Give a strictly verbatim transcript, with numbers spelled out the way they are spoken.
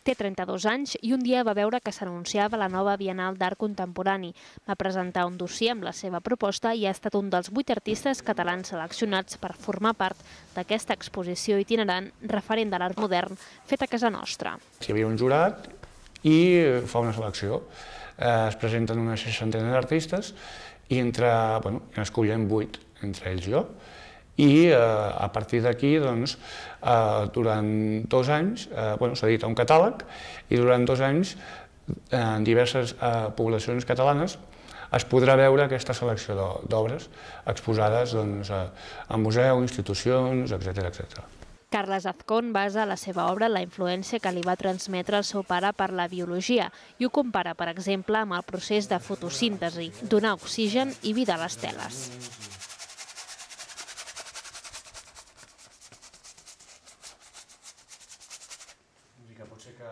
Té trenta-dos anys i un dia va veure que s'anunciava la nova Bienal d'Art Contemporani. Va presentar un dossier amb la seva proposta i ha estat un dels vuit artistes catalans seleccionats per formar part d'aquesta exposició itinerant referent de l'art modern fet a casa nostra. Hi havia un jurat i fa una selecció. Es presenten una seixantena d'artistes i entre, bueno, n'escollem vuit, entre ells jo. I a partir d'aquí, doncs, durant dos anys, bueno, s'ha dit un catàleg, i durant dos anys en diverses poblacions catalanes es podrà veure aquesta selecció d'obres exposades en museus, institucions, etcètera, etcètera. Carles Azcón basa la seva obra en la influència que li va transmetre el seu pare per la biologia i ho compara, per exemple, amb el procés de fotosíntesi, donar oxigen i vida a les teles. Potser que